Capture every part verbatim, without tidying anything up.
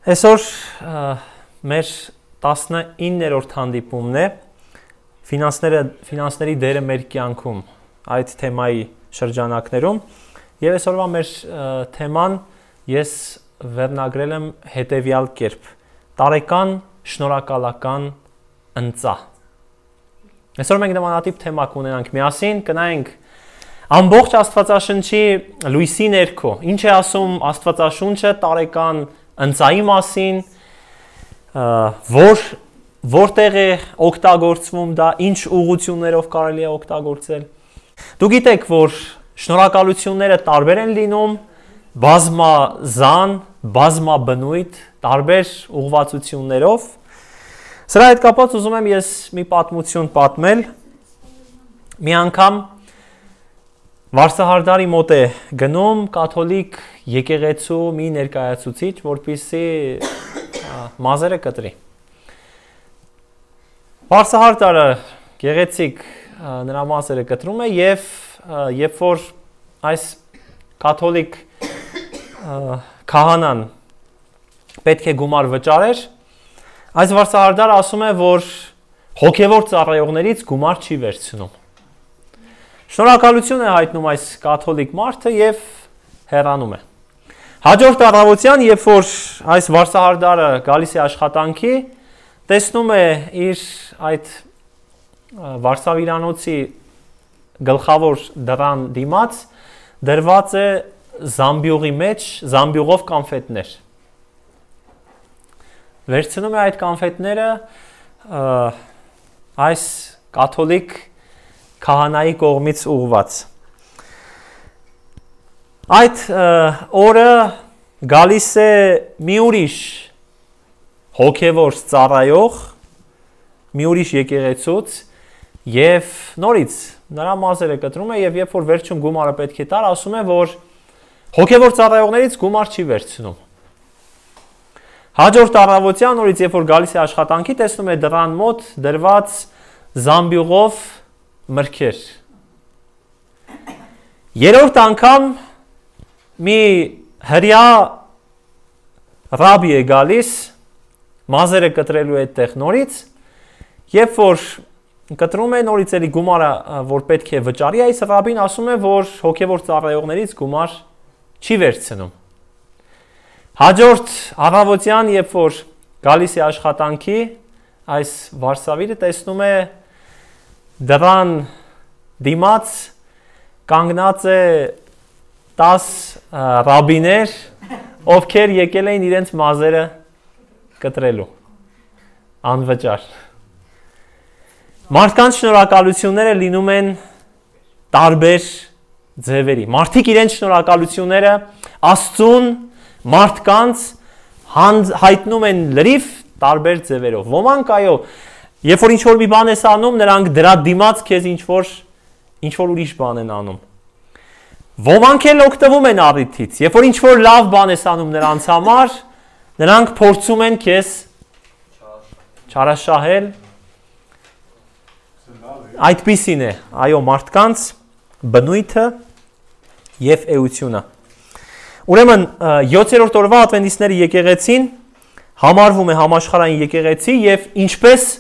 Այսօր մեր տասնիններորդ հանդիպումն է ֆինանսների դերը մեր կյանքում այդ թեմայի շրջանակներում եւ այսօրվա մեր թեման ես վերնագրել եմ հետեւյալ կերպ տարեկան շնորհակալական ընծա Այսօր մենք նմանատիպ թեմա կունենանք միասին կնայենք ամբողջ Աստվածաշնչի լույսի ներքո ինչ է ասում Աստվածաշունչը տարեկան ընծայի մասին որ որտեղ է օգտագործվում դա ինչ ուղղություններով կարելի է օգտագործել Դու գիտեք որ շնորհակալությունները տարբեր են լինում բազմազան բազմաբնույթ տարբեր ուղղվածություններով Սրա հետ կապված ուզում եմ ես մի պատմություն պատմել մի անգամ Վարսահարդարի մոտ է գնում կաթոլիկ եկեղեցու մի ներկայացուցիչ, որպեսզի մազերը կտրի։ Վարսահարդարը գեղեցիկ նրա մազերը կտրում է եւ երբ որ այս կաթոլիկ քահանան պետք է գումար վճարեր, այս վարսահարդարը ասում է, որ հոգևոր ծառայողներից գումար չի վերցնում։ Շնորհակալություն է հայտնում այս կաթոլիկ մարդը եւ հեռանում է։ Հաջորդ առավոտյան, երբ որ այս վարսահարդարը գալիս է աշխատանքի, տեսնում է իր այդ վարսավիրանոցի գլխավոր դռան դիմաց դրված է զամբյուղի մեջ զամբյուղով կոնֆետներ։ Վերցնում է այդ կոնֆետները այս կաթոլիկ քահանայի կողմից ուղված։ Այդ օրը գալիս է մի ուրիշ հոգևոր ծառայող, մի ուրիշ եկեղեցուց եւ նորից նրա մազերը կտրում է եւ երբ որ վերջում գումարը պետք է տար, ասում է, որ հոգևոր ծառայողներից գումար չի վերցնում։ Հաջորդ առավոտյան նորից երբ որ գալիս է աշխատանքի, տեսնում է դռան մոտ դրված զամբյուղով մրգեր։ Երրորդ անգամ մի հրյա ռաբի է գալիս, մազերը կտրելու է այդտեղ նորից, երբ որ կտրում է նորից էլի գումարը, որ պետք է վճարի, այս ռաբին ասում է, որ հոգևոր ծառայողներից գումար չի վերցնում։ Հաջորդ առավոտյան, երբ որ գալիս է աշխատանքի, այս վարսավիրը տեսնում է դռան դիմաց կանգնած է տաս ռաբիներ, ովքեր եկել էին իրենց մազերը կտրելու, անվճար։ Մարդկանց շնորհակալությունները լինում են տարբեր ձևերի։ Մարդիկ իրենց շնորհակալությունները Աստծուն, մարդկանց հայտնում են լրիվ տարբեր ձևերով։ Ոմանք այո Երբ որ ինչ-որ մի բան ես անում, նրանք դրա դիմաց քեզ ինչ-որ ինչ-որ ուրիշ բան են անում։ Ոմանք էլ օգտվում են առիթից, երբ որ ինչ-որ լավ բան ես անում նրանց համար, նրանք փորձում են քեզ չարաշահել։ Այդպիսին է, այո, մարդկանց բնույթը եւ էությունը։ Ուրեմն յոթերորդ օրվա ադվենտիստների եկեղեցին համարվում է համաշխարհային եկեղեցի եւ ինչպես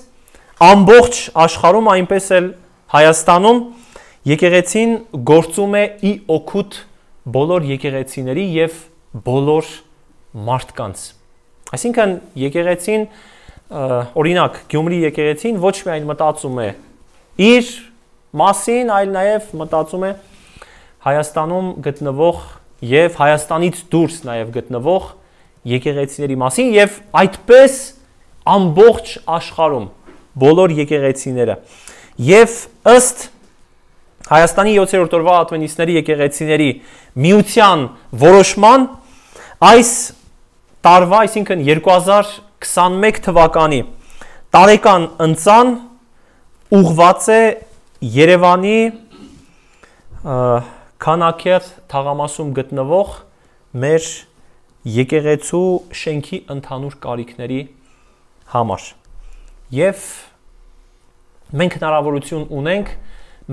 Ամբողջ աշխարհում այնպես էլ Հայաստանում եկեղեցին գործում է ի օգուտ բոլոր եկեղեցիների եւ բոլոր մարդկանց։ Այսինքն եկեղեցին օրինակ Գյումրի եկեղեցին ոչ միայն մտածում է իր մասին, այլ նաեւ մտածում է Հայաստանում գտնվող եւ Հայաստանից դուրս նաեւ գտնվող եկեղեցիների մասին եւ այդպես ամբողջ աշխարհում բոլոր եկեղեցիները եւ ըստ Հայաստանի յոթերորդ օրվա ադվենտիստների եկեղեցիների միության որոշման այս տարվա, այսինքն երկու հազար քսանմեկ թվականի տարեկան ընծան ուղղված է Երևանի Քանաքեռ թաղամասում գտնվող մեր եկեղեցու շենքի ընդհանուր կարիքների համար Եվ մենք հնարավորություն ունենք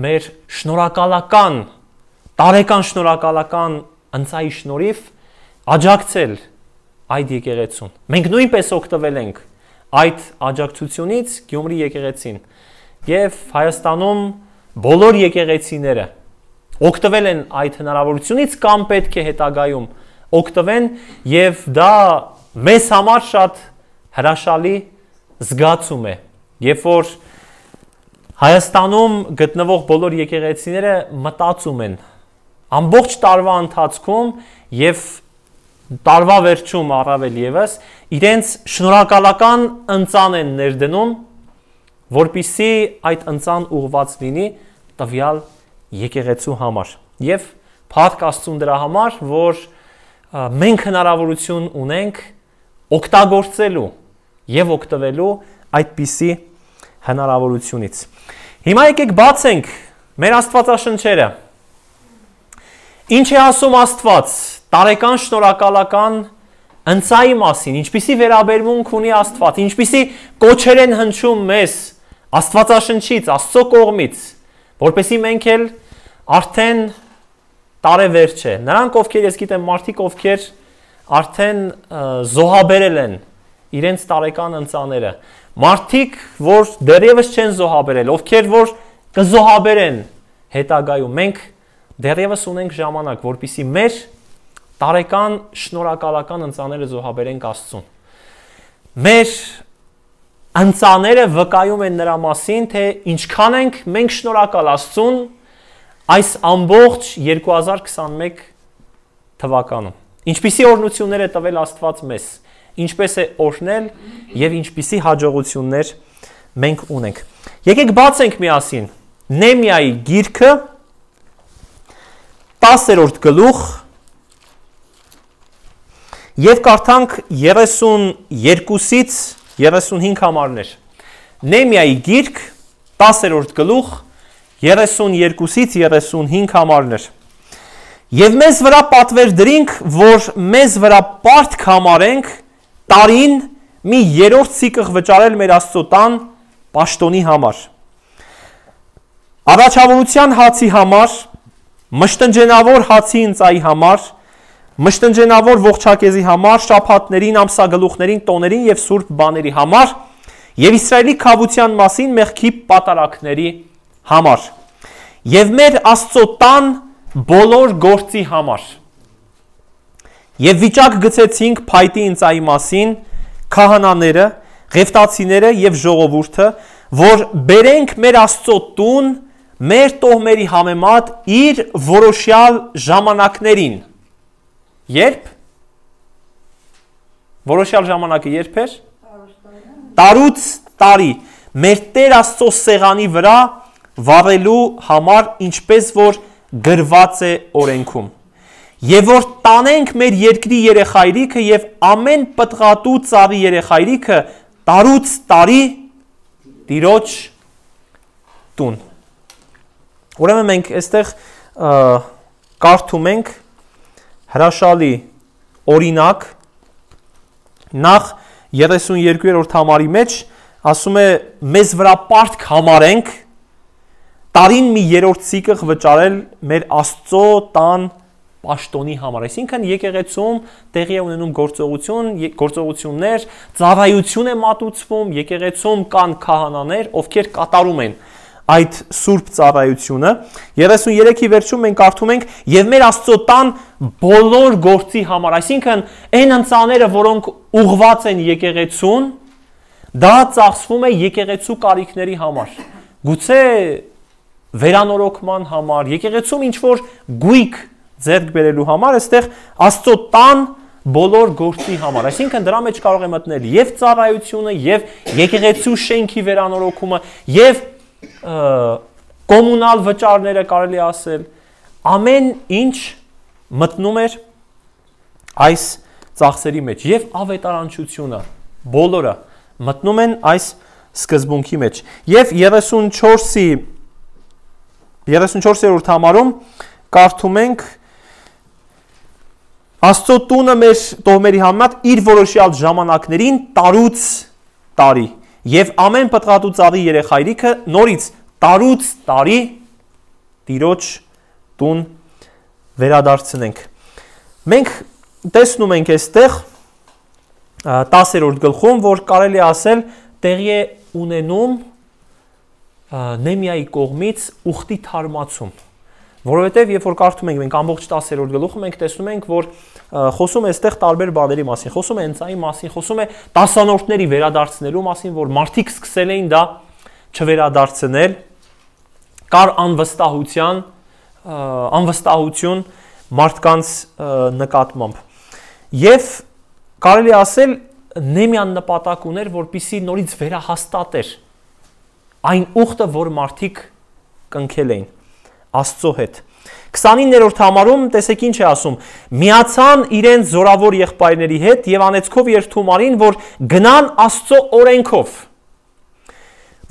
մեր շնորհակալական, տարեկան շնորհակալական ընծայի շնորհիվ աջակցել այդ եկեղեցուն։ Մենք նույնպես օգտվել ենք այդ աջակցությունից Գյումրի եկեղեցին եւ Հայաստանում բոլոր եկեղեցիները օգտվել են այդ հնարավորությունից կամ պետք է հետագայում օգտվեն եւ դա մեզ համար շատ հրաշալի զգացում է, երբ որ Հայաստանում գտնվող բոլոր եկեղեցիները մտածում են ամբողջ տարվա ընթացքում եւ տարվա վերջում առավել եւս իրենց շնորհակալական ընծան են ներդնում, որպիսի այդ ընծան ուղված լինի տվյալ եկեղեցու համար եւ փառք Աստծուն դրա համար, որ մենք հնարավորություն ունենք օգտագործելու եւ օգտվելու այդպիսի հնարավորությունից։ Հիմա եկեք բացենք մեր Աստվածաշնչերը։ Ինչ է ասում Աստված տարեկան շնորհակալական ընծայի մասին, ինչպիսի վերաբերմունք ունի Աստված, ինչպիսի կոչեր են հնչում մեզ Աստվածաշնչից, Աստծո կողմից, որպեսզի մենք էլ արդեն տարեվերջ է։ Նրանք, ովքեր ես գիտեմ, մարդիկ, ովքեր արդեն զոհաբերել են իրենց տարեկան ընծաները, մարդիկ, որ դեռևս չեն զոհաբերել, ովքեր որ կզոհաբերեն հետագայում, մենք դեռևս ունենք ժամանակ, որպեսզի մեր տարեկան շնորհակալական ընծաները զոհաբերենք Աստծուն։ Մեր ընծաները վկայում են նրա մասին, թե ինչքան ենք մենք շնորհակալ Աստծուն այս ամբողջ երկու հազար քսաներեք թվականում։ Ինչպիսի օրհնություններ է տվել Աստված մեզ, ինչպես է օրհնել եւ ինչպիսի հաջողություններ մենք ունենք։ Եկեք բացենք միասին Նեհեմիայի գիրքը տասերորդ գլուխ եւ կարդանք երեսունյոթից երեսունհինգ համարներ։ Նեհեմիայի գիրք տասերորդ գլուխ երեսունյոթից երեսունհինգ համարներ։ Եվ մեզ վրա պատվեր դրինք, որ մեզ վրա պարտք համարենք տարին մի երրորդ սիկղ վճարել մեր Աստծո տան պաշտոնի համար։ Առաջավորության հացի համար, մշտնջենավոր հացի ընծայի համար, մշտնջենավոր ողջակեզի համար, շաբաթներին, ամսագլուխներին, տոներին եւ սուրբ բաների համար, եւ Իսրայելի քավության մասին մեղքի պատարակների համար, եւ մեր Աստծո տան բոլոր գործի համար։ Եվ վիճակ գցեցինք փայտի ընծայի մասին քահանաները, ղևտացիները եւ ժողովուրդը, որ բերենք մեր Աստծո տուն մեր տոհմերի համեմատ իր որոշյալ ժամանակներին։ Երբ? Որոշյալ ժամանակը երբ էր? Տարուց տարի մեր Տեր Աստծո սեղանի վրա վառելու համար, ինչպես որ գրված է օրենքում։ Եվ որ տանենք մեր երկրի երեխայրիքը եւ ամեն պտղատու ծառի երեխայրիքը տարուց տարի Տիրոջ տուն։ Ուրեմն մենք այստեղ կարդում ենք հրաշալի օրինակ, նախ երեսունյոթերորդ համարի մեջ ասում է մեզ վրա պարտք համարենք տարին մի երրորդ սիկղ վճարել մեր Աստծո տան պաշտոնի համար, այսինքն եկեղեցում տեղի է ունենում գործողություն, գործողություններ, ծառայություն է մատուցվում, եկեղեցում կան քահանաներ, ովքեր կատարում են այդ սուրբ ծառայությունը։ երեսունյոթի վերջում մենք կարդում ենք եւ մեր Աստծո տան բոլոր գործի համար, այսինքն այն ընծաները, որոնք ուղված են եկեղեցուն, դա ծախսվում է եկեղեցու կարիքների համար։ Գուցե վերանորոգման համար, եկեղեցում ինչ որ գույք ձեռք բերելու համար, այստեղ Աստծո տան բոլոր գործի համար, այսինքն դրա մեջ կարող է մտնել եւ ծառայությունը, եւ եկեղեցու շենքի վերանորոգումը, եւ կոմունալ վճարները կարելի ասել, ամեն ինչ մտնում էր այս ծախսերի մեջ եւ ավետարանչությունը, բոլորը մտնում են այս սկզբունքի մեջ։ Եվ երեսունչորսի երեսունչորսերորդ համարում կարդում ենք Աստծո տունը մեր տոհմերի համեմատ իր որոշյալ ժամանակներին տարուց տարի եւ ամեն պտղատու ծառի երեխայրիքը նորից տարուց տարի Տիրոջ տուն վերադարձնենք։ Մենք տեսնում ենք այստեղ տասերորդ գլխում, որ կարելի է ասել տեղի է ունենում Նեհեմիայի կողմից ուխտի թարմացում, որովհետև երբ որ կարդում ենք մենք ամբողջ տասերորդ գլուխը, մենք տեսնում ենք, որ խոսում է այստեղ տարբեր բաների մասին, խոսում է հենց այն մասին, խոսում է տասանորդների վերադարձնելու մասին, որ մարդիկ սկսել էին դա չվերադարձնել, կար անվստահության, անվստահություն մարդկանց նկատմամբ։ Եվ կարելի ասել Նեհեմիան նպատակ ուներ, որպեսզի նորից վերահաստատեր այն ուխտը, որ մարդիկ կնքել էին Աստծո հետ։ քսանիններորդ համարում տեսեք ինչ է ասում. միացան իրենց զորավոր եղբայրների հետ եւ անեծքով երթումարին, որ գնան Աստծո օրենքով,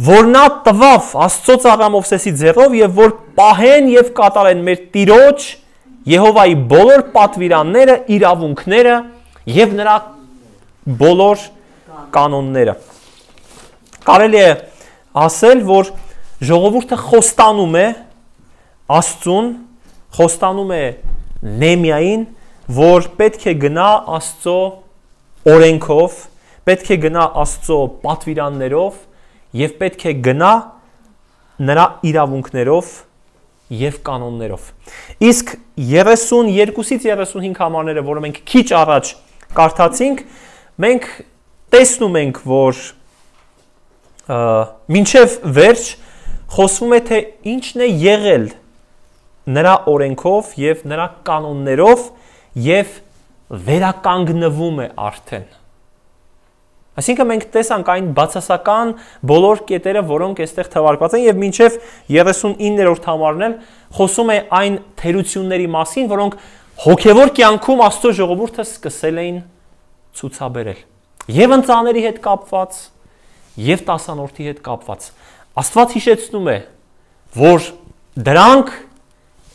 որ նա տվավ Աստծո ծառա Մովսեսի ձեռով եւ որ պահեն եւ կատարեն մեր Տիրոջ Եհովայի բոլոր պատվիրանները, իրավունքները եւ նրա բոլոր կանոնները։ Կարելի է ասել, որ ժողովուրդը խոստանում է Աստծուն, խոստանում է Նեհեմիային, որ պետք է գնա Աստծո օրենքով, պետք է գնա Աստծո պատվիրաններով եւ պետք է գնա նրա իրավունքներով եւ կանոններով։ Իսկ երեսունյոթից երեսունհինգ համարները, որը մենք քիչ առաջ կարդացինք, մենք տեսնում ենք, որ մինչև վերջ խոսվում է, թե ինչն է եղել նրա օրենքով եւ նրա կանոններով եւ վերականգնվում է արդեն։ Այսինքն մենք տեսանք այն բացասական բոլոր կետերը, որոնք այստեղ թվարկված են եւ մինչև երեսունիններորդ համարն էլ խոսում է այն թերությունների մասին, որոնք հոգեվոր կյանքում Աստծո ժողովուրդը սկսել էին ցուցաբերել։ Եվ ընծաների հետ կապված, եւ տասանորդի հետ կապված։ Աստված հիշեցնում է, որ դրանք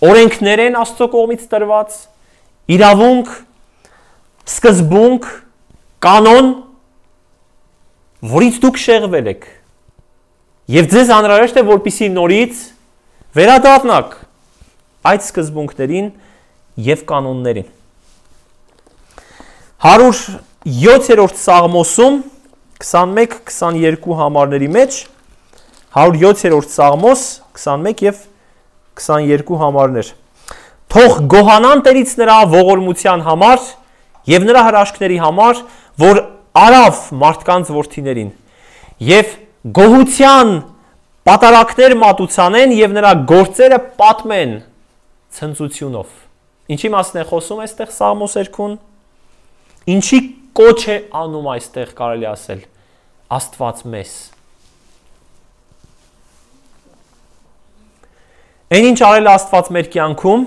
օրենքներ են Աստծո կողմից տրված, իրավունք, սկզբունք, կանոն, որից դուք շեղվել եք։ Եվ ձեզ անհրաժեշտ է, որպեսզի նորից վերադառնաք այդ սկզբունքներին եւ կանոններին։ հարյուր յոթերորդ Սաղմոսում քսանմեկ քսաներկու համարների մեջ հարյուր յոթերորդ Սաղմոս քսանմեկ եւ քսաներկու համարներ։ Թող գոհանան Տերից նրա ողորմության համար եւ նրա հրաշքների համար, որ արավ մարդկանց որդիներին եւ գոհության պատարակներ մատուցանեն եւ նրա գործերը պատմեն ցնծությունով։ Ինչի մասն է խոսում այստեղ Սաղմոս երգուն։ Ինչի կոչ է անում այստեղ կարելի ասել Աստված մեզ։ Այն ինչ արել Աստված մեր կյանքում,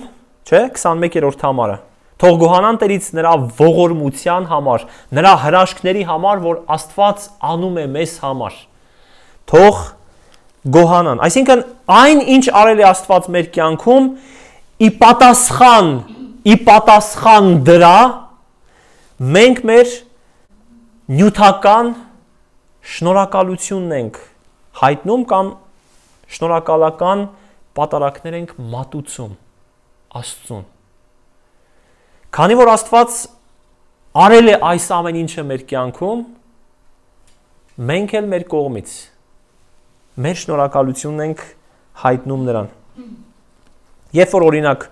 չէ, քսանմեկերորդ համարը։ Թող գոհանան Տերից նրա ողորմության համար, նրա հրաշքների համար, որ Աստված անում է մեզ համար։ Թող գոհանան։ Այսինքն այն ինչ արել է Աստված մեր կյանքում, ի պատասխան, ի պատասխան դրա մենք մեր նյութական շնորհակալությունն ենք հայտնում կամ շնորհակալական պատարակներ ենք մատուցում Աստծուն։ Քանի որ Աստված արել է այս ամեն ինչը մեր կյանքում, մենք էլ մեր կողմից մեր շնորհակալությունն ենք հայտնում նրան։ Երբ որ օրինակ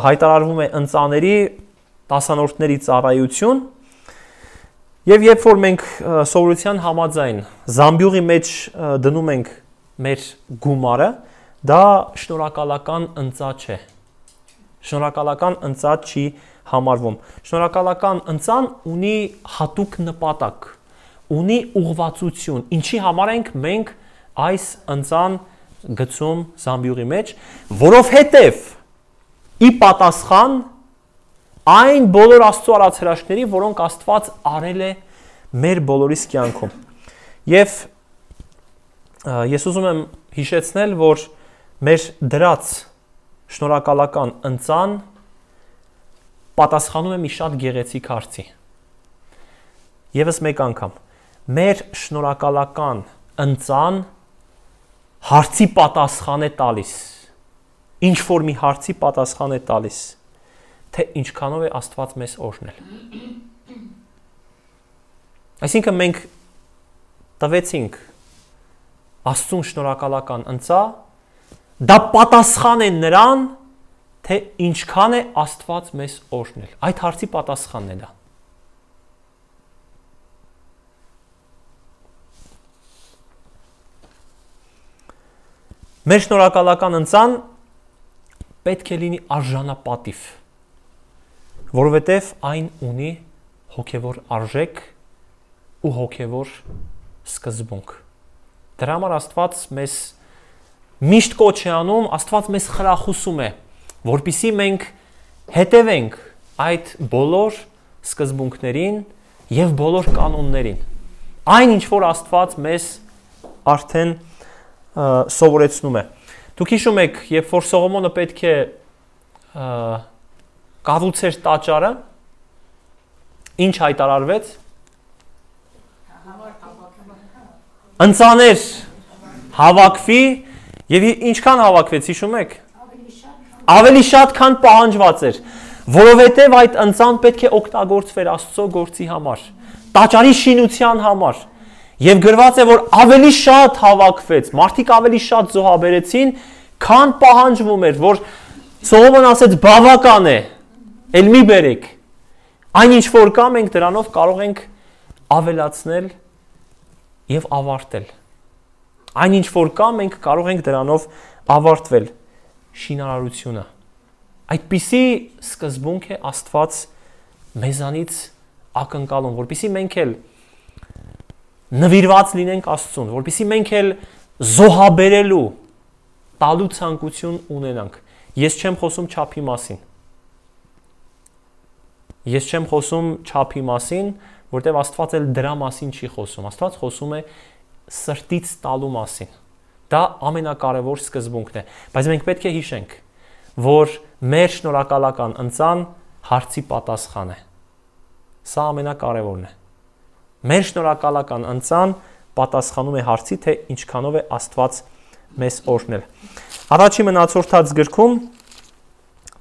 հայտարարվում է ընծաների, տասանորդների ծառայություն, եւ երբ որ մենք սովորության համաձայն զամբյուղի մեջ դնում ենք մեր գումարը, դա շնորհակալական ընծա չէ։ Շնորհակալական ընծա չի համարվում։ Շնորհակալական ընծան ունի հատուկ նպատակ, ունի ուղղվածություն, ինչի համար ենք մենք այս ընծան գցում զամբյուղի մեջ, որովհետև ի պատասխան այն բոլոր Աստծո արած հրաշքների, որոնք Աստված արել է մեր բոլորիս կյանքում։ Եվ ես ուզում եմ հիշեցնել, որ մեր դրած շնորհակալական ընծան պատասխանում է մի շատ գեղեցիկ հարցի։ Եվս մեկ անգամ, մեր շնորհակալական ընծան հարցի պատասխան է տալիս, ինչ որ մի հարցի պատասխան է տալիս, թե ինչքանով է Աստված մեզ օրհնել։ Այսինքն մենք տվեցինք Աստծուն շնորհակալական ընծա, դա պատասխան է նրան, թե ինչքան է Աստված մեզ օրհնել։ Այդ հարցի պատասխանն է դա։ Մեր շնորհակալական ընծան պետք է լինի արժանապատիվ, որովհետև այն ունի հոգևոր արժեք ու հոգևոր սկզբունք։ Դրա համար Աստված մեզ միշտ կոչ է անում, Աստված մեզ խրախուսում է, որպեսզի մենք հետևենք այդ բոլոր սկզբունքներին եւ բոլոր կանոններին։ Այն ինչ որ Աստված մեզ արդեն սովորեցնում է։ Դուք հիշում եք, երբ որ Սողոմոնը պետք է կառուցեր տաճարը, ինչ հայտարարվեց։ Ընծաներ հավաքվի եւ ինչքան հավաքվեց, հիշում եք։ Ավելի շատ, քան պահանջված էր, որովհետև այդ ընծան պետք է օգտագործվեր Աստծո գործի համար, տաճարի շինության համար։ Եվ գրված է, որ ավելի շատ հավաքվեց, մարդիկ ավելի շատ զոհաբերեցին, քան պահանջվում էր, որ Սողոմոն ասեց բավական է, էլ մի բերեք։ Այն ինչ որ կա, մենք դրանով կարող ենք ավելացնել եւ ավարտել։ Այն ինչ որ կա, մենք կարող ենք դրանով ավարտվել շինարարությունը։ Այդպիսի սկզբունք է Աստված մեզանից ակնկալում, որպեսզի մենք էլ նվիրված լինենք Աստծուն, որպեսզի մենք էլ զոհաբերելու տալու ցանկություն ունենանք։ Ես չեմ խոսում չափի մասին։ Ես չեմ խոսում չափի մասին, որտեղ Աստված էլ դրա մասին չի խոսում։ Աստված խոսում է սրտից տալու մասին։ Դա ամենակարևոր սկզբունքն է, բայց մենք պետք է հիշենք, որ մեր շնորհակալական ընծան հարցի պատասխան է։ Սա ամենակարևորն է։ Մեր շնորհակալական ընծան պատասխանում է հարցի, թե ինչքանով է Աստված մեզ օրհնել։ Առաջի մնացորդած գրքում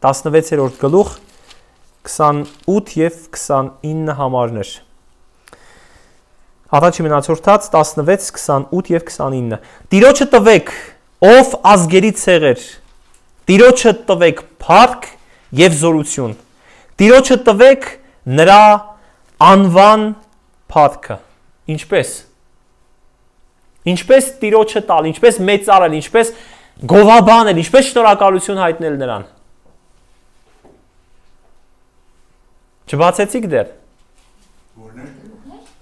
տասնվեցերորդ գլուխ քսանութ եւ քսանինը համարներ։ Առաջի մնացորդած տասնվեց, քսանութ եւ քսանինը։ Տիրոջը տվեք, ով ազգերի ցեղեր, Տիրոջը տվեք փառք եւ զորություն։ Տիրոջը տվեք նրա անվան փառքը։ Ինչպես։ Ինչպես Տիրոջը տալ, ինչպես մեծարել, ինչպես գովաբանել, ինչպես շնորհակալություն հայտնել նրան։ Չբացեցիք դեռ։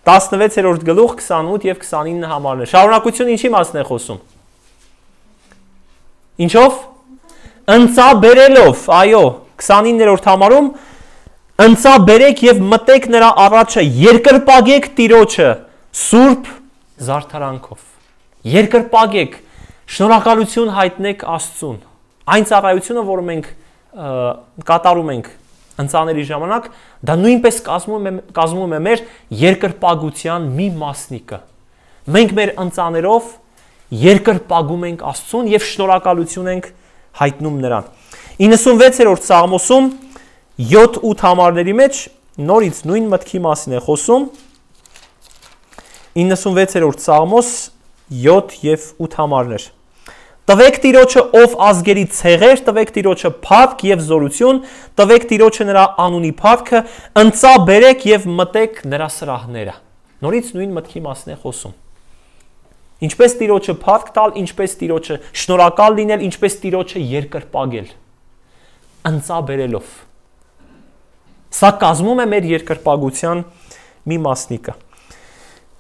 տասնվեցերորդ գլուխ քսանութ եւ քսանինը համարներ։ Շարունակությունը ինչի մասն է խոսում։ Ինչով։ Ընծա բերելով, այո, քսանիններորդ համարում ընծա բերեք եւ մտեք նրա առաջը, երկրպագեք Տիրոջը սուրբ զարդարանքով։ Երկրպագեք, շնորհակալություն հայտնեք Աստծուն։ Այն ծառայությունը, որը մենք կատարում ենք ընծաների ժամանակ, դա նույնպես կազմում է, կազմում է մեր երկրպագության մի մասնիկը։ Մենք մեր ընծաներով երկրպագում ենք Աստծուն եւ շնորհակալություն ենք հայտնում նրան։ իննսունվեցերորդ Սաղմոսում յոթ ութ համարների մեջ նորից նույն մտքի մասին է խոսում։ իննսունվեցերորդ Սաղմոս յոթ եւ ութ համարներ։ Տվեք Տիրոջը ով ազգերի ցեղեր, տվեք Տիրոջը փառք եւ զորություն, տվեք Տիրոջը նրա անունի փառքը, ընծա բերեք եւ մտեք նրա սրահները։ Նորից նույն մտքի մասն է խոսում։ Ինչպես Տիրոջը փառք տալ, ինչպես Տիրոջը շնորհակալ լինել, ինչպես Տիրոջը երկրպագել։ Ընծա բերելով։ Սա կազմում է մեր երկրպագության մի մասնիկը։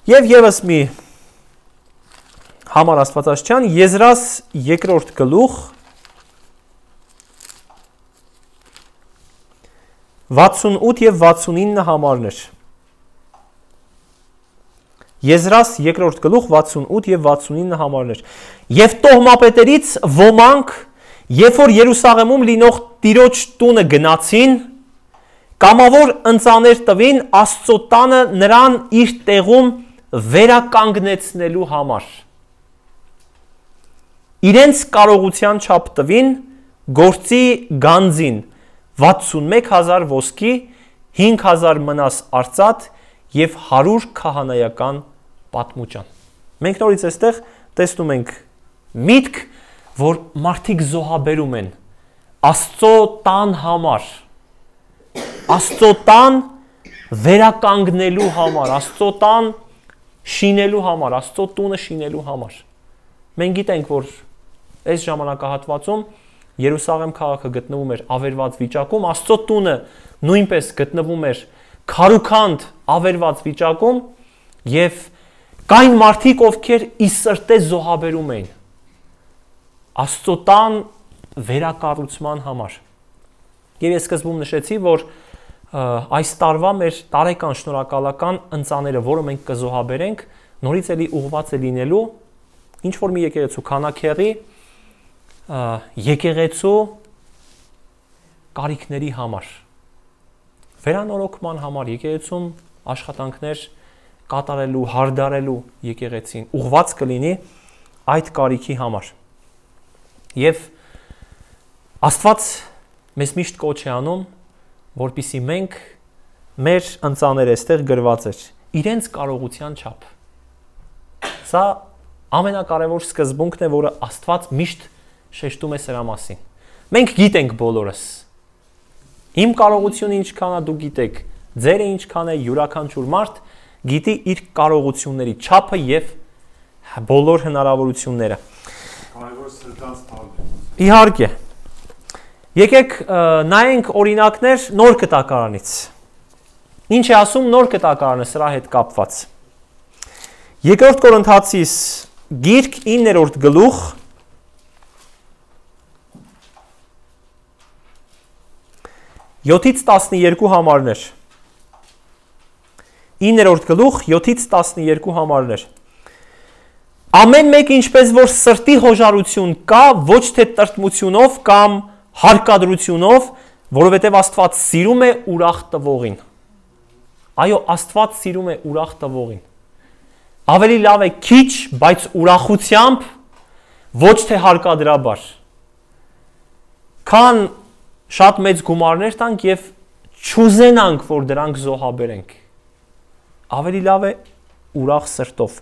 Եվ եւս մի Համար Աստվածաշնչյան Եզրաս երկրորդ գլուխ վաթսունութ եւ վաթսունինը համարներ։ Եզրաս երկրորդ գլուխ վաթսունութ եւ վաթսունինը համարներ։ Եվ տոհմապետերից ոմանք, երբ որ Երուսաղեմում լինող Տիրոջ տունը գնացին, կամավոր ընծաներ տվին Աստծո տանը նրան իր տեղում վերականգնեցնելու համար։ Իրենց կարողության չափ տվին գործի գանձին վաթսունմեկ հազար ոսկի, հինգ հազար մնաս արծաթ եւ հարյուր քահանայական պատմուճան։ Մենք նորից այստեղ տեսնում ենք միտք, որ մարդիկ զոհաբերում են Աստծո տան համար, Աստծո տան վերականգնելու համար, Աստծո տան շինելու համար, Աստծո տունը շինելու համար։ Մենք գիտենք, որ այս ժամանակահատվածում Երուսաղեմ քաղաքը գտնվում էր ավերված վիճակում, Աստծո տունը նույնպես գտնվում էր քարուքանդ ավերված վիճակում եւ կային մարդիկ, ովքեր ի սրտե զոհաբերում էին Աստծո տան վերակառուցման համար։ Եվ ես սկզբում նշեցի, որ այս տարվա մեր տարեկան շնորհակալական ընծաները, որը մենք կզոհաբերենք, նորից էլի ուղղված է լինելու ինչ որ մի եկեղեցու քանակերի եկեղեցու կարիքների համար, վերանորոգման համար, եկեղեցում աշխատանքներ կատարելու, հարդարելու եկեղեցին ուղղված կլինի այդ կարիքի համար։ Եվ Աստված մեզ միշտ կոչ է անում, որպեսզի մենք մեր ընծաները այստեղ գրված էր իրենց կարողության չափ։ Սա ամենակարևոր սկզբունքն է, որը Աստված միշտ շեշտում է սրա մասին։ Մենք գիտենք բոլորս։ Իմ կարողությունը ինչքան է, դու գիտեք, ձերը ինչքան է, յուրաքանչյուր մարդ գիտի իր կարողությունների չափը եւ բոլոր հնարավորությունները։ Կարևորը սրտանց տալն է։ Իհարկե։ Եկեք նայենք օրինակներ նոր կտակարանից։ Ինչ է ասում նոր կտակարանը սրա հետ կապված։ Երկրորդ Կորինթացիս գիրք իններորդ գլուխ յոթից տասներկու համարներ։ իններորդ գլուխ յոթից տասներկու համարներ։ Ամեն մեկ ինչպես որ սրտի հոժարություն կա, ոչ թե տրտմությունով կամ հարկադրությունով, որովհետև Աստված սիրում է ուրախ տվողին։ Այո, Աստված սիրում է ուրախ տվողին։ Ավելի լավ է քիչ, բայց ուրախությամբ, ոչ թե հարկադրաբար։ Քան շատ մեծ գումարներ տանք եւ չուզենանք, որ դրանք զոհաբերենք։ Ավելի լավ է ուրախ սրտով։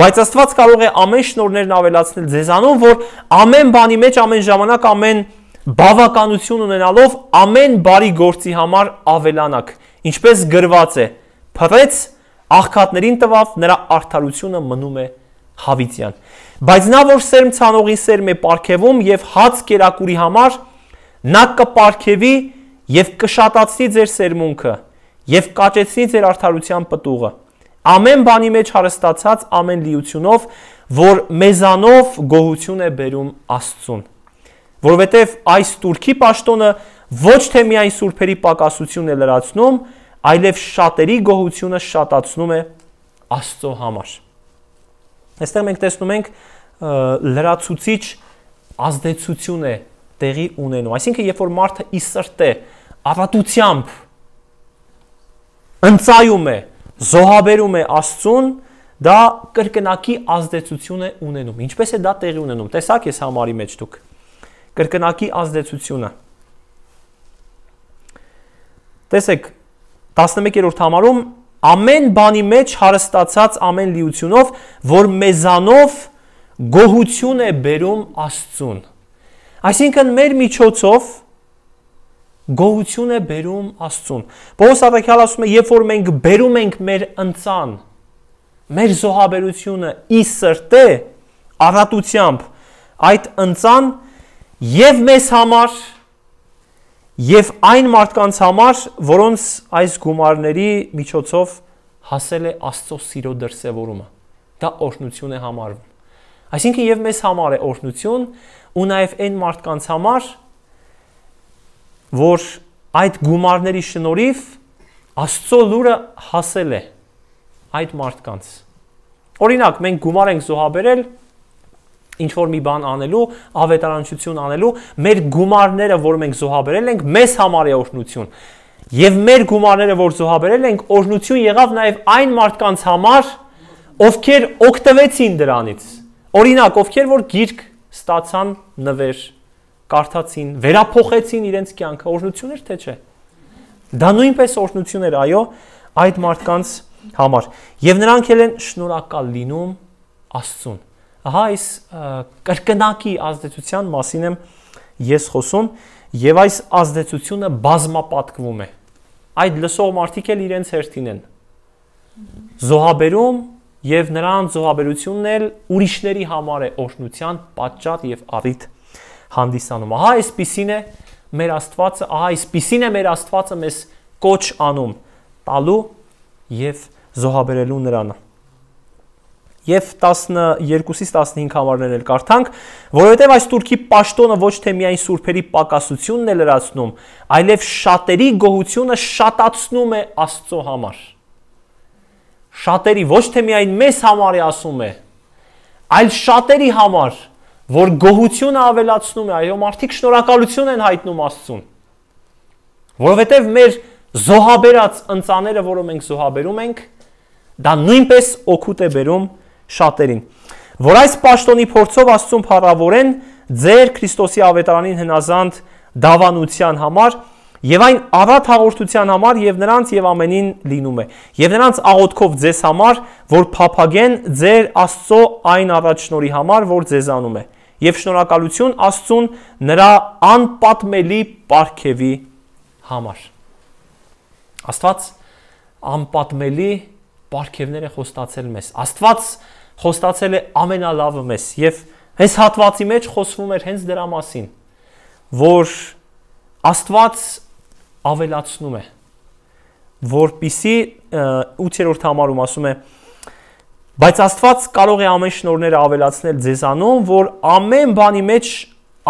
Բայց Աստված կարող է ամեն շնորհներն ավելացնել ձեզանում, որ ամեն բանի մեջ, ամեն ժամանակ, ամեն բավականություն ունենալով ամեն բարի գործի համար ավելանաք, ինչպես գրված է. փռեց, աղքատներին տվավ, նրա արդարությունը մնում է հավիտյան։ Բայց նա որ սերմ ցանողին սերմ է պարգևում եւ հաց կերակուրի համար, նա կպարգևի եւ կշատացնի ձեր սերմունքը եւ կաճեցնի ձեր արդարության պտուղը։ Ամեն բանի մեջ հարստացած ամեն լիությունով, որ մեզանով գոհություն է բերում Աստծուն։ Որովհետև այս Տուրքի պաշտոնը ոչ թե միայն սուրբերի պակասությունն է լրացնում, այլև շատերի գոհությունը շատացնում է Աստծո համար։ Այստեղ մենք տեսնում ենք լրացուցիչ ազդեցություն է տեղի ունենում։ Այսինքն, երբ որ մարդը ի սրտե առատությամբ ընծայում է, զոհաբերում է Աստծուն, դա կրկնակի ազդեցություն է ունենում։ Ինչպես է դա տեղի ունենում։ Տեսակ ես համարի մեջ դուք։ Կրկնակի ազդեցությունը։ Տեսեք, տասնմեկերորդ համարում ամեն բանի մեջ հարստացած ամեն լիությունով, որ մեզանով գոհություն է բերում Աստծուն։ Այսինքն մեր միջոցով գոհություն է բերում Աստծուն։ Պողոս առաքյալը ասում է, երբ որ մենք բերում ենք մեր ընծան, մեր զոհաբերությունը ի սրտե, առատությամբ, այդ ընծան եւ մեզ համար, եւ այն մարդկանց համար, որոնց այս գումարների միջոցով հասել է Աստծո սիրո դրսևորումը։ Դա օրհնություն է համարվում։ Այսինքն եւ մեզ համար է օրհնություն, ու նաեւ այն մարդկանց համար, որ այդ գումարների շնորհիվ Աստծո լուրը հասել է այդ մարդկանց։ Օրինակ, մենք գումար ենք զոհաբերել ինչ որ մի բան անելու, ավետարանչություն անելու, մեր գումարները, որ մենք զոհաբերել ենք, մեզ համար է օրհնություն։ Եվ մեր գումարները, որ զոհաբերել ենք, օրհնություն եղավ նաև այն մարդկանց համար, ովքեր օգտվեցին դրանից։ Օրինակ, ովքեր որ գիրք ստացան նվեր, կարդացին, վերափոխեցին իրենց կյանքը, օրհնություն էր թե չէ։ Դա նույնպես օրհնություն էր, այո, այդ մարդկանց համար եւ նրանք էլ են շնորհակալ լինում Աստծուն։ Ահա այս կրկնակի ազդեցության մասին եմ ես խոսում եւ այս ազդեցությունը բազմապատկվում է։ Այդ լսող մարդիկ էլ իրենց հերթին են զոհաբերում եւ նրանց զոհաբերությունն էլ ուրիշների համար է օրհնության պատճառ եւ առիթ հանդիսանում։ Ահա այսպիսին է մեր Աստվածը, ահա այսպիսին է մեր Աստվածը մեզ կոչ անում տալու եւ զոհաբերելու նրան։ Եվ տասնյոթից տասնհինգ համարներ էլ կարդանք, որովհետև այս Տուրքի պաշտոնը ոչ թե միայն սուրբերի պակասությունն է լրացնում, այլև շատերի գոհությունը շատացնում է Աստծո համար։ Շատերի, ոչ թե միայն մեզ համար է ասում է, այլ շատերի համար, որ գոհությունը ավելացնում է, այո, մարդիկ շնորհակալություն են հայտնում Աստծուն։ Որովհետև մեր զոհաբերած ընծաները, որը մենք զոհաբերում ենք, դա նույնպես օգուտ է բերում շատերին, որ այս պաշտոնի փորձով Աստծուն փառավորեն ձեր Քրիստոսի ավետարանին հնազանդ դավանության համար եւ այն առատ հաղորդության համար եւ նրանց եւ ամենին լինում է եւ նրանց աղոթքով ձեզ համար, որ փափագեն ձեր Աստծո այն առատ շնորհի համար, որ ձեզանում է եւ շնորհակալություն Աստծուն նրա անպատմելի պարգևի համար։ Աստված անպատմելի պարգևներ է խոստացել մեզ։ Աստված խոստացել է ամենալավը մեզ եւ այս հատվածի մեջ խոսվում էր հենց դրա մասին, որ Աստված ավելացնում է, որպիսի ութերորդ համարում ասում է, բայց Աստված կարող է ամեն շնորհները ավելացնել ձեզանում, որ ամեն բանի մեջ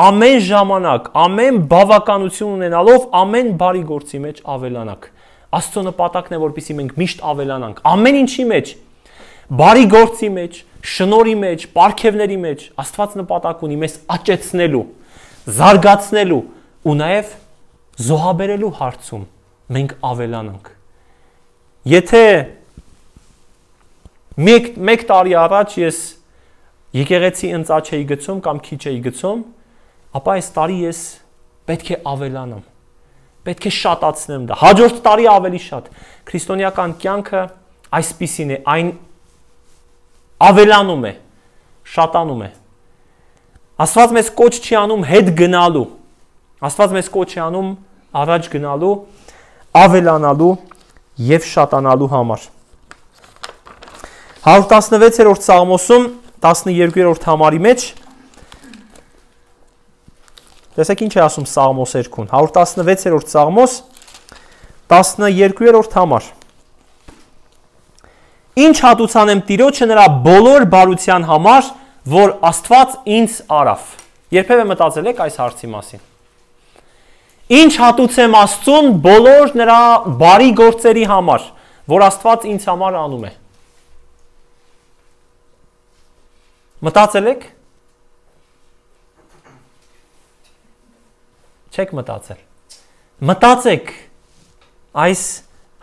ամեն ժամանակ, ամեն բավականություն ունենալով ամեն բարի գործի մեջ ավելանանք։ Աստծո նպատակն է, որպեսզի մենք միշտ ավելանանք ամեն ինչի մեջ, բարի գործի մեջ, շնորհի մեջ, պարգևների մեջ։ Աստված նպատակ ունի մեզ աճեցնելու, զարգացնելու ու նաև զոհաբերելու հարցում մենք ավելանանք։ Եթե մեկ, մեկ տարի առաջ ես եկեղեցի ընծաչ էի գցում կամ քիչ էի գցում, ապա այս տարի ես պետք է ավելանամ, պետք է շատացնեմ դա, հաջորդ տարի ավելի շատ։ Քրիստոնեական կյանքը այսպիսին է, այն ավելանում է, շատանում է։ Աստված մեզ կոչ չի անում հետ գնալու, Աստված մեզ կոչ չի անում առաջ գնալու, ավելանալու եւ շատանալու համար։ հարյուր տասնվեցերորդ Սաղմոսում տասնյոթերորդ համարի մեջ տեսեք ինչ է ասում Սաղմոս երկում, հարյուր տասնվեցերորդ Սաղմոս տասնյոթերորդ համար։ Ինչ հատուցանեմ Տիրոջը նրա բոլոր բարության համար, որ Աստված ինձ արավ։ Երբևէ մտածել եք այս հարցի մասին։ Ինչ հատուցեմ Աստծուն բոլոր նրա բարի գործերի համար, որ Աստված ինձ համար անում է։ Մտածել եք։ Չեք մտածել։ Մտածեք այս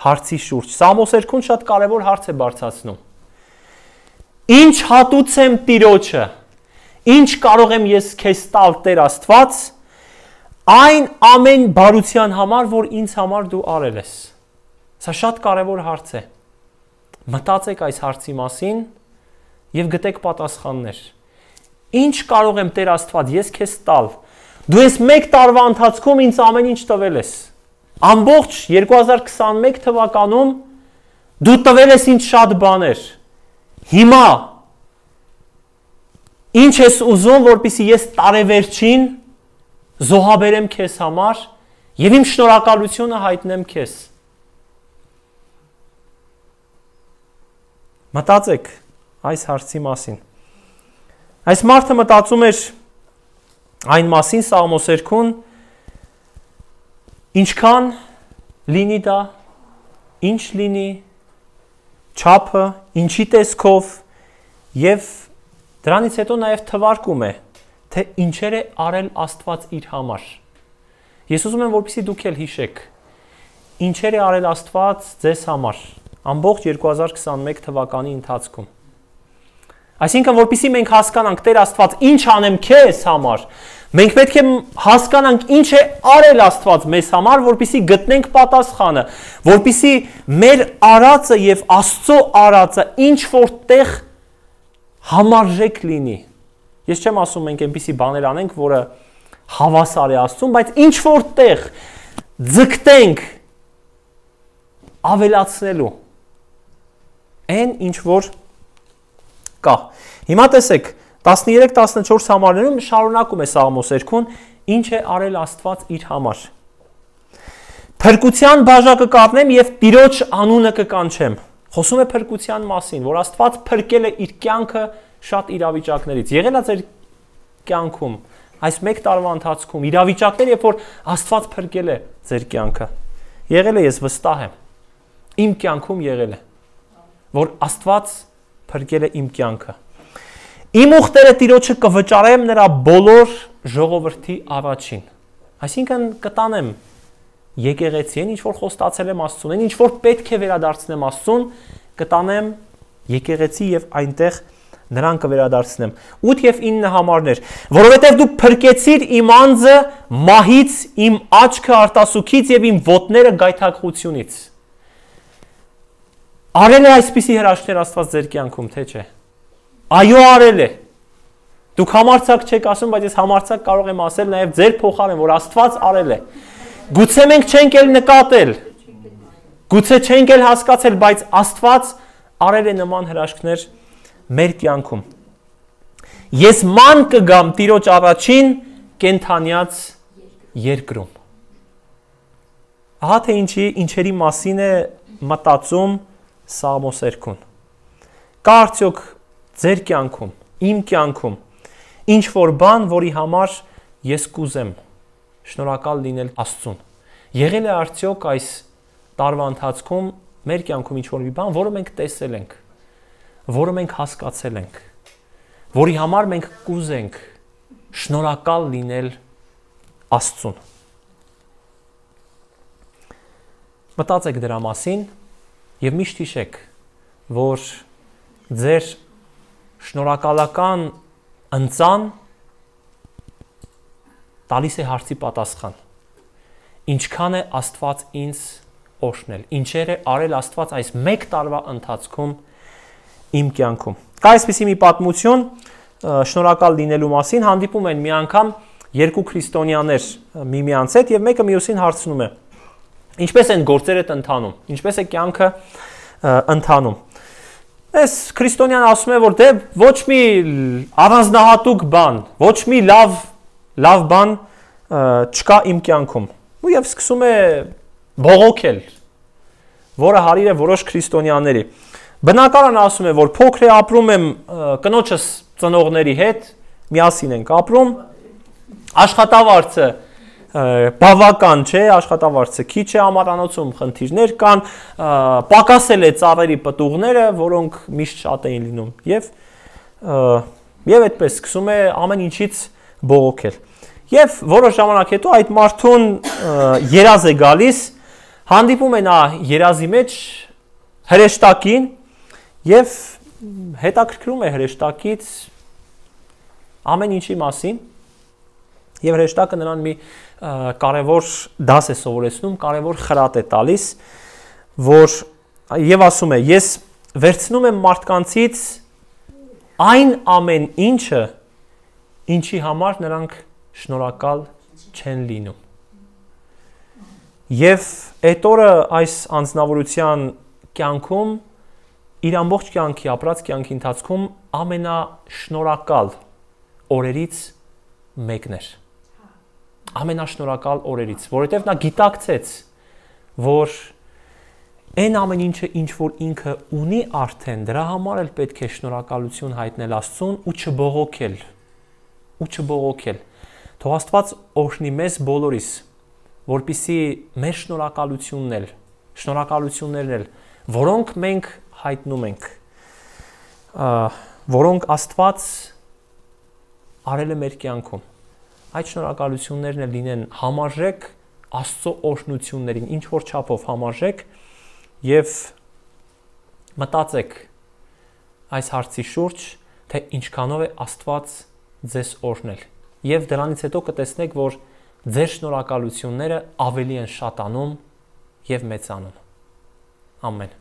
հարցի շուրջ։ Սաղմոս երկում շատ կարևոր հարց է բարձրացնում։ Ինչ հատուցեմ Տիրոջը, ինչ կարող եմ ես քեզ տալ Տեր Աստված, այն ամեն բարության համար, որ ինձ համար դու արել ես։ Սա շատ կարևոր հարց է։ Մտածեք այս հարցի մասին եւ գտեք պատասխաններ։ Ինչ կարող եմ Տեր Աստված ես քեզ տալ։ Դու ես մեկ տարվա ընթացքում ինձ ամեն ինչ տվել ես։ Ամբողջ երկու հազար քսաներեք թվականում դու տվել ես ինձ շատ բաներ։ Հիմա ինչ ես ուզում, որպեսզի ես տարեվերջին զոհաբերեմ քեզ համար եւ իմ շնորհակալությունը հայտնեմ քեզ։ Մտածեք այս հարցի մասին։ Այս մարդը մտածում էր այն մասին Սաղմոս երկում, ինչքան լինի դա, ինչ լինի, չափը, ինչի տեսքով եւ դրանից հետո նաեւ թվարկում է, թե ինչեր է արել Աստված իր համար։ Ես ուզում եմ, որպեսզի դուք էլ հիշեք, ինչեր է արել Աստված ձեզ համար ամբողջ երկու հազար քսաներեք թվականի ընթացքում։ Այսինքն, որպեսզի մենք հասկանանք Տեր Աստված ինչ անեմ քեզ համար, Մենք պետք է հասկանանք ինչ է արել Աստված մեզ համար, որպեսզի գտնենք պատասխանը, որպեսզի մեր արածը եւ Աստծո արածը ինչ որտեղ համարժեք լինի։ Ես չեմ ասում մենք այնպիսի բաներ անենք, որը հավասար է Աստծուն, բայց ինչ որտեղ ձգտենք ավելացնելու այն ինչ որ կա։ Հիմա տեսեք, տասներեք տասնչորս համարներում շարունակում է Սաղմոս երգուն, ինչ է արել Աստված իր համար։ Փրկության բաժակը կառնեմ եւ Տիրոջ անունը կկանչեմ։ Խոսում է փրկության մասին, որ Աստված փրկել է իր կյանքը շատ իրավիճակներից։ Եղել է ձեր կյանքում այս մեկ տարվա ընթացքում իրավիճակներ, երբ որ Աստված փրկել է ձեր կյանքը։ Եղել է, ես վստահ եմ։ Իմ կյանքում եղել է, որ Աստված փրկել է իմ կյանքը։ Իմ ուխտերը Տիրոջը կվճարեմ նրա բոլոր ժողովրդի առաջին։ Այսինքն կտանեմ եկեղեցին, ինչ որ խոստացել եմ Աստծուն, ինչ որ պետք է վերադարձնեմ Աստծուն, կտանեմ եկեղեցի եւ այնտեղ նրան կվերադարձնեմ։ ութ եւ ինը համարներ, որովհետեւ դու փրկեցիր իմ անձը մահից, իմ աչքը արտասուքից եւ իմ ոտները գայթակղությունից։ Արել է այսպիսի հրաշքներ Աստված ձեր կյանքում, թե չէ։ Այո, արել է։ Դուք համարձակ չեք ասում, բայց ես համարձակ կարող եմ ասել նաև ձեր փոխարեն, որ Աստված արել է։ Գուցե մենք չենք էլ նկատել, գուցե չենք էլ հասկացել, բայց Աստված արել է նման հրաշքներ մեր կյանքում։ Ես ման կգամ Տիրոջ առաջին կենթանյաց երկրում։ Ահա թե ինչի, ինչերի մասին է մտածում Սաղմոս երգուն։ Կա արդյոք ձեր կյանքում, իմ կյանքում, ինչ որ բան, որի համար ես կուզեմ շնորհակալ լինել Աստծուն։ Եղել է արդյոք այս տարվա ընթացքում մեր կյանքում ինչ որ մի բան, որը մենք տեսել ենք, որը մենք հասկացել ենք, որի համար մենք կուզենք շնորհակալ լինել Աստծուն։ Մտածեք դրա մասին եւ միշտ հիշեք, որ ձեր շնորհակալական ընծան տալիս է հարցի պատասխան։ Ինչքան է Աստված ինձ օրհնել, ինչեր է արել Աստված այս մեկ տարվա ընթացքում իմ կյանքում։ Կա այսպիսի մի պատմություն շնորհակալ լինելու մասին, հանդիպում են մի անգամ երկու քրիստոնյաներ միմյանց հետ եւ մեկը մյուսին հարցնում է. Ինչպես են գործերդ ընթանում, ինչպես է կյանքը ընթանում։ Այս քրիստոնյան ասում է, որ դե ոչ մի առանձնահատուկ բան, ոչ մի լավ լավ բան չկա իմ կյանքում։ Ու եւ սկսում է բողոքել, որը հարիր է որոշ քրիստոնյաների։ Բնակարան ասում է, որ փոքր է ապրում եմ կնոջս ծնողների հետ, միասին ենք ապրում, աշխատավարձը բավական չէ, աշխատավարձը քիչ է, ամառանոցում խնդիրներ կան, պակասել է ծառերի պտուղները, որոնք միշտ շատ էին լինում, եւ եւ այդպես սկսում է ամեն ինչից բողոքել։ Եվ որոշ ժամանակ հետո այդ մարդուն երազ է գալիս, հանդիպում է նա երազի մեջ հրեշտակին եւ հետաքրքրում է հրեշտակից ամեն ինչի մասին, եւ հրեշտակը նրան մի կարևոր դաս է սովորեցնում, կարևոր խրատ է տալիս, որ եւ ասում է. ես վերցնում եմ մարդկանցից այն ամեն ինչը, ինչի համար նրանք շնորհակալ չեն լինում։ Եվ այդ օրը այս անձնավորության կյանքում իր ամբողջ կյանքի ապրած կյանքի ընթացքում ամենաշնորհակալ օրերից մեկն էր։ Ամենաշնորհակալ օրերից, որովհետև նա գիտակցեց, որ այն ամեն ինչը ինչ որ ինքը ունի արդեն, դրա համար էլ պետք է շնորհակալություն հայտնել Աստծուն ու չբողոքել, ու չբողոքել։ Թող Աստված օրհնի մեզ բոլորիս, որպեսզի մեր շնորհակալությունն էլ, շնորհակալություններն էլ, որոնք մենք հայտնում ենք, որոնք Աստված արել է մեր կյանքում, այդ շնորհակալություններն էլ լինեն համարժեք Աստծո օրհնություններին, ինչ որ չափով համարժեք, եւ մտածեք այս հարցի շուրջ, թե ինչքանով է Աստված ձեզ օրհնել, եւ դրանից հետո կտեսնեք, որ ձեր շնորհակալությունները ավելի են շատանում եւ մեծանում։ Ամեն։